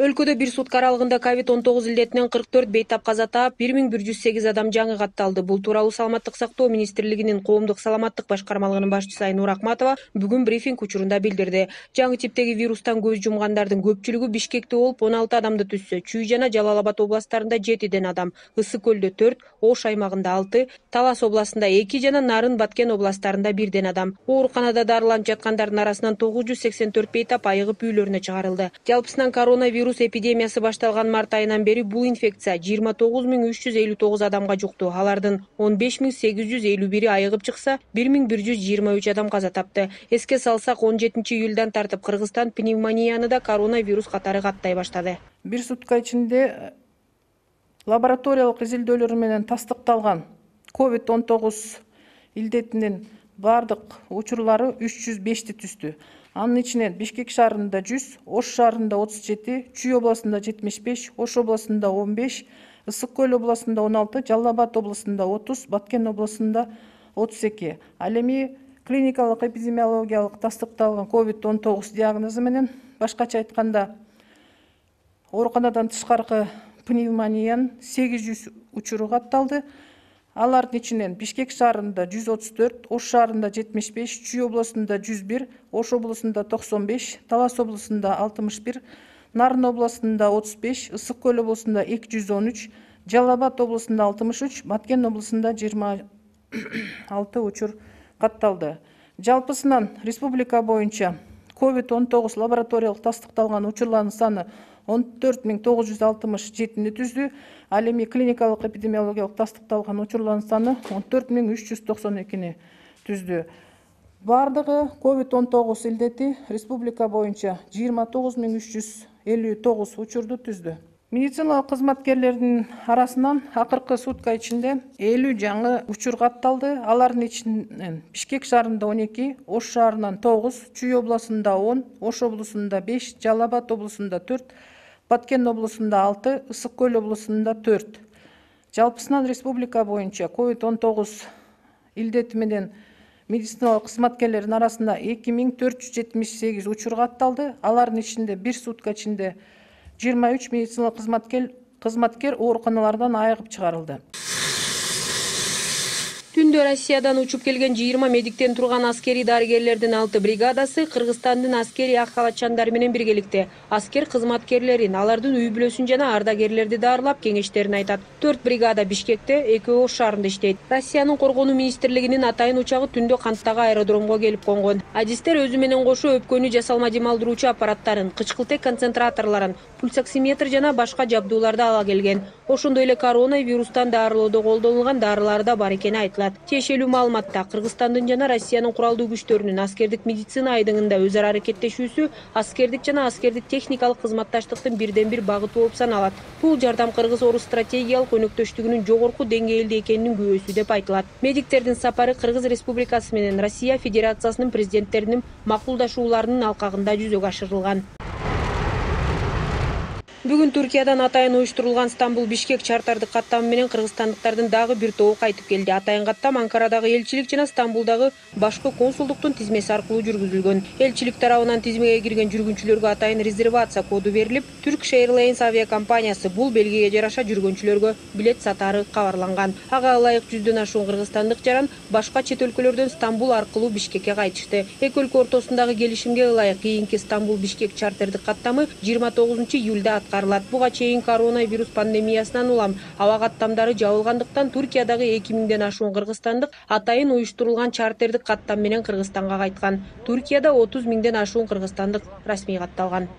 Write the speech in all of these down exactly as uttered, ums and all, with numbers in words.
Өлкөдө бир сутка аралыгында ковид он тогуз илдетинен кырк төрт бейтап каза таап, бир миң бир жүз сегиз адам жаңы катталды. Бул тууралуу Саламаттык сактоо министрлигинин коомдук саламаттык башкармалыгынын башчысы Айнур Акматова бүгүн брифинг учурунда билдирди. Жаңы типтеги вирустан көз жумгандардын көпчүлүгү Бишкекте болуп, он алты адамды түзсө, Чүй жана Жалал Абад областтарында жетиден адам, Ысык көлдө төрт, Ош аймагында алты, Талас областында эки жана Нарын Баткен областтарында бирден адам. Ооруканада дарыланып жаткандардын арасынан тогуз жүз сексен төрт бейтап айыгып үйлөрүнө чыгарылды. Жалпысынан коронавирус Вирус эпидемиясы башталган март айынан бери бул инфекция жыйырма тогуз миң үч жүз элүү тогуз адамга жукту. Алардын он беш миң сегиз жүз элүү бири айыгып чыкса, бир миң бир жүз жыйырма үч адам каза тапты. Эске салсак, он жетинчи июлдан тартып Кыргызстан пневмонияны да коронавирус катары каттай баштады. Бир сутка ичинде лабораториялык изилдөөлөр менен тастыкталган ковид он тогуз илдетинин бардык учурлары үч жүз бешти түздү. Анын ичинен Бишкек шаарында жүз, Ош шаарында отуз жети, Чүй областында жетимиш беш, Ош областында он беш, Ысык көл областында он алты, Жалал Абад областында отуз, Баткен областында отуз эки. Ал эми клиникалык эпидемиологиялык тастыкталган ковид он тогуз диагнозу менен, башкача айтканда, ооруканадан тышкаркы пневмониянын сегиз жүз учуру катталды. Алардын ичинен Бишкек шаарында жүз отуз төрт, Ош шаарында жетимиш беш, Чүй областында жүз бир, Ош областында токсон беш, Талас областында алтымыш бир, Нарын областында отуз беш, Ысык көл областында эки жүз он үч, Жалал Абад областында алтымыш үч, Баткен областында жыйырма алты учур катталды. Жалпысынан республика боюнча ковид он тогуз лабораториялык тастыкталган учурлардын саны он төрт миң тогуз жүз алтымыш жетини түздү. Ал эми клиникалык эпидемиологиялык тастыкталган учурлардын саны он төрт миң үч жүз токсон экини түздү. Бардыгы ковид он тогуз илдети республика боюнча жыйырма тогуз миң үч жүз элүү тогуз учурду түздү. Медициналык кызматкерлердин арасынан акыркы сутка ичинде элүү жаңы учур катталды. Алардын ичинен Бишкек шаарында он эки, Ош шаарынан тогуз, Чүй областында он, Ош областында беш, Жалал Абад областында төрт, Баткен областында алты, Ысык көл областында төрт. Жалпысынан республика боюнча ковид он тогуз илдети менен медициналык кызматкерлердин арасында эки миң төрт жүз жетимиш сегиз учур катталды. Алардын ичинде бир сутка ичинде жыйырма үч медициналык кызматкер кызматкер ооруканалардан айыгып чыгарылды. Түндө Россиядан учуп келген жыйырма медиктен турган аскерий дарыгерлердин алты бригадасы Кыргызстандын аскерий ак халатчандары менен биргеликте аскер кызматкерлерин, алардын үй бүлөсүн жана ардагерлерди даарылап кеңештерин айтат. төрт бригада Бишкекте, экөө Ош шаарында иштейт. Россиянын коргонуу министрлигинин атайын учагы түндө канттагы аэродромго келип конгон. Адистер өзү менен кошо өпкөнү жасалма демалдыруучу аппараттарын, кычкылтек концентраторлорун, пульсоксиметр жана башка жабдууларды ала келген. Ошондой эле коронавирустан даарылоодо колдонулган дарылар да бар экени айтылат. Тиешелүү маалыматта Кыргызстандын жана Россиянын куралдуу күчтөрүнүн аскердик медицина айдыңында өзара аракеттешүүсү аскердик жана аскердик техникалык кызматташтыктын бирден бир багыты болуп саналат. Бул жардам кыргыз-орус стратегиялык өнөктөштүгүнүн жогорку деңгээлде экенинин күбөсү деп айтылат. Медиктердин сапары Кыргыз Республикасы менен Россия Федерациясынын президенттеринин макулдашууларынын алкагында жүзөгө ашырылган. Бүгүн Туркиядан атайын уюштурулган Стамбул-Бишкек чартардык каттамы менен кыргызстандыктардын дагы бир тобу кайтып келди. Атайын каттам Анкарадагы элчилик жана Стамбулдагы башкы консулдуктун тизмеси аркылуу жүргүзүлгөн. Элчилик тарабынан тизмеге кирген жүргүнчүлөргө атайын резервация коду берилип, Turkish Airlines авиакомпаниясы бул белгиге жараша жүргүнчүлөргө билет сатаары кабарланган. Ага ылайык жүздөн ашуун кыргызстандык жаран башка чет өлкөлөрдөн Стамбул аркылуу Бишкекке кайтышты. Эки өлкө ортосундагы келишимге ылайык кийинки Стамбул-Бишкек чартардык каттамы жыйырма тогузунчу июлда Буга чейин коронавирус пандемиясынан улам аба каттамдары жабылгандыктан Туркиядагы эки миңден ашуун кыргызстандык атайын уюштурулган чартардык каттам менен Кыргызстанга кайткан. Туркияда отуз миңден ашуун кыргызстандык расмий катталган.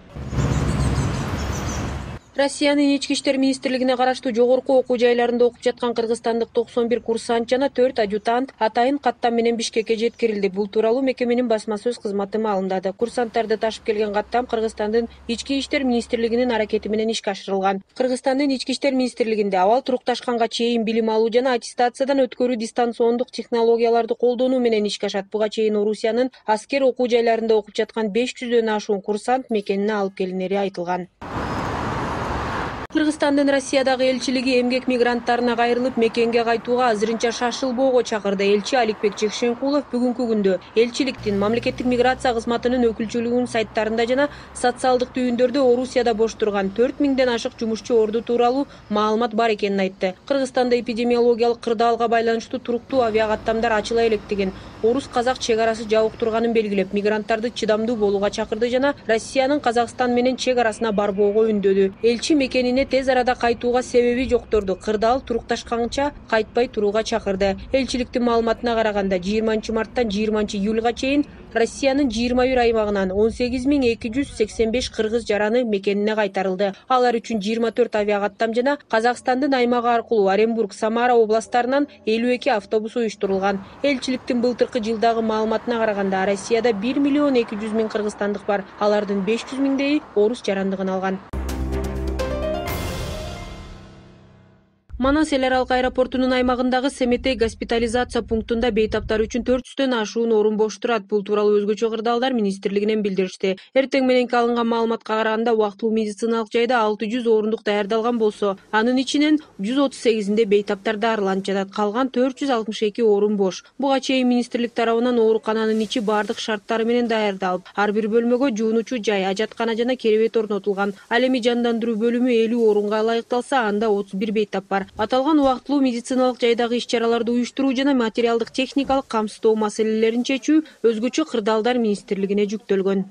Россиянын ички иштер министрлигине караштуу жогорку окуу жайларында окуп жаткан кыргызстандык токсон бир курсант жана төрт адъютант атайын каттам менен Бишкекке жеткирилди. Бул тууралуу мекеменин басма сөз кызматы маалымдады. Курсанттарды ташып келген каттам Кыргызстандын ички иштер министрлигинин аракети менен ишке ашырылган. Кыргызстандын ички иштер министрлигинде абал турукташканга чейин билим алуу жана аттестациядан өткөрүү дистанциондук технологияларды колдонуу менен ишке ашат. Буга чейин Орусиянын аскер окуу жайларында окуп жаткан беш жүздөн ашуун курсант мекенине алып келинери айтылган. Кыргызстандын Россиядагы элчилиги эмгек мигранттарына кайрылып мекенге кайтууга азырынча шашылбоого чакырды. Элчи Аликбек Жекшенкулов бүгүнкү күндө элчиликтин мамлекеттик миграция кызматынын өкүлчүлүгүнүн сайттарында жана социалдык түйүндөрдө Орусияда бош турган төрт миңден ашык жумушчу орду тууралуу маалымат бар экенин айтты. Кыргызстанда эпидемиологиялык кырдаалга байланыштуу туруктуу авиакаттамдар ачыла электигин, орус-казак чек арасы жабык турганын белгилеп, мигранттарды чыдамдуу болууга чакырды жана Россиянын Казакстан менен чек арасына барбоого үндөдү. Элчи мекенине тез арада кайтууга себеби жокторду кырдаал турукташканча кайтпай турууга чакырды. Элчиликтин маалыматына караганда жыйырманчы марттан жыйырманчы июлга чейин Россиянын жыйырма бир аймагынан он сегиз миң эки жүз сексен беш кыргыз жараны мекенине кайтарылды. Алар үчүн жыйырма төрт авиакаттам жана Казакстандын аймагы аркылуу Оренбург, Самара областтарынан элүү эки автобус уюштурулган. Элчиликтин былтыркы жылдагы маалыматына караганда Россияда бир миллион эки жүз миң кыргызстандык бар. Алардын беш жүз миңдейи орус жарандыгын алган. Манас эл аралык аэропортунун аймагындагы Семетей госпитализация пунктунда бейтаптар үчүн төрт жүздөн ашуун орун бош турат. Бул тууралуу өзгөчө кырдаалдар министрлигинен билдиришти. Эртең мененки алынган маалыматка караганда убактылуу медициналык жайда алты жүз орундук даярдалган болсо, анын ичинен жүз отуз сегизинде бейтаптар дарыланып жатат. Калган төрт жүз алтымыш эки орун бош. Буга чейин министрлик тарабынан оорукананын ичи бардык шарттары менен даярдалып, ар бир бөлмөгө жуунуучу жай, ажаткана жана керебет орнотулган. Ал эми жандандыруу бөлүмү элүү орунга ылайыкталса, анда отуз бир бейтап бар. Аталган убактылуу медициналык жайдагы иш-чараларды уюштуруу жана материалдык техникалык камсыздоо маселелерин чечүү өзгөчө кырдаалдар министрлигине жүктөлгөн.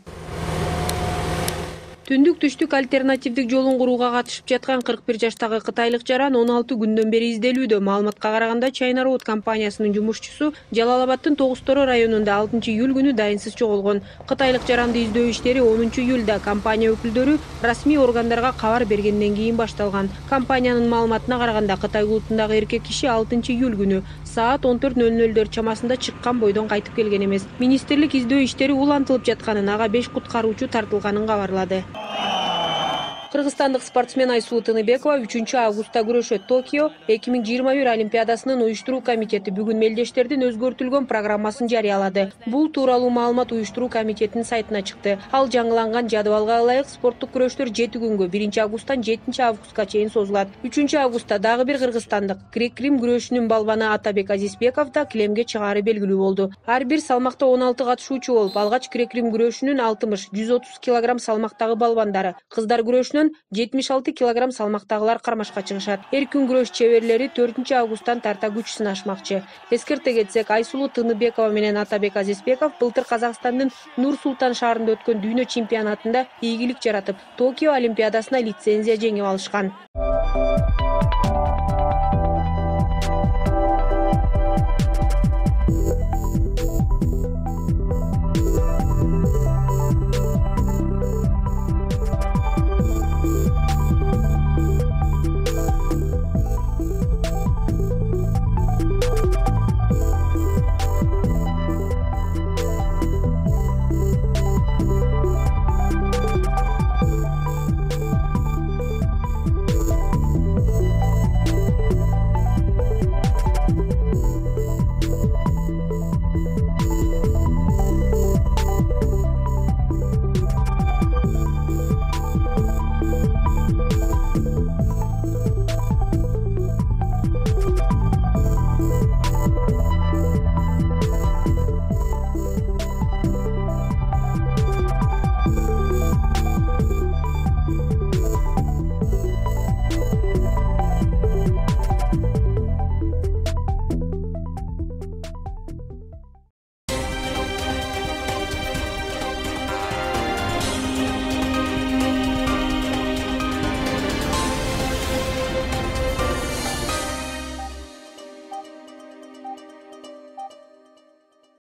Түндүк түштүк альтернативдик жолун курууга катышып жаткан кырк бир жаштагы кытайлык жаран он алты күндөн бери изделүүдө. Маалыматка караганда China Road компаниясынын жумушчусу Жалал Абадтын Тогуз-Торо районунда алтынчы июль күнү дайынсыз жоголгон. Кытайлык жаранды издөө иштери онунчу июлда компания өкүлдөрү расмий органдарга кабар бергенден кийин башталган. Компаниянын маалыматына караганда Кытай улутундагы эркек киши алтынчы июль күнү саат он төрт нөл нөлдөр чамасында чыккан бойдон кайтып келген эмес. Министрлик издөө иштери улантылып жатканын, ага беш куткаруучу тартылганын кабарлады. Кыргызстандык спортсмен Айсулуу Тыныбекова үчүнчү августта күрөшөт. Токио эки миң жыйырма бир Олимпиадасынын уюштуруу комитети бүгүн мелдештердин өзгөртүлгөн программасын жарыялады. Бул тууралуу маалымат уюштуруу комитетинин сайтына чыкты. Ал жаңыланган жадыбалга ылайык спорттук күрөштөр жети күнгө биринчи августтан жетинчи августка чейин созулат. үчүнчү августта дагы бир кыргызстандык грек-рим күрөшүнүн балбаны Атабек Азизбеков да килемге чыгаары белгилүү болду. Ар бир салмакта он алты катышуучу болуп, алгач грек-рим күрөшүнүн алтымыш жүз отуз килограмм салмактагы балбандары, кыздар күрөшүнүн жетимиш алты килограмм салмактагылар кармашка чыгышат. Эркин күрөш чеберлери төртүнчү августтан тарта күч сынашмакчы. Эскерте кетсек, Айсулуу Тыныбекова менен Атабек Азизбеков былтыр Казакстандын Нур-Султан шаарында өткөн дүйнө чемпионатында ийгилик жаратып, Токио Олимпиадасына лицензия жеңип алышкан.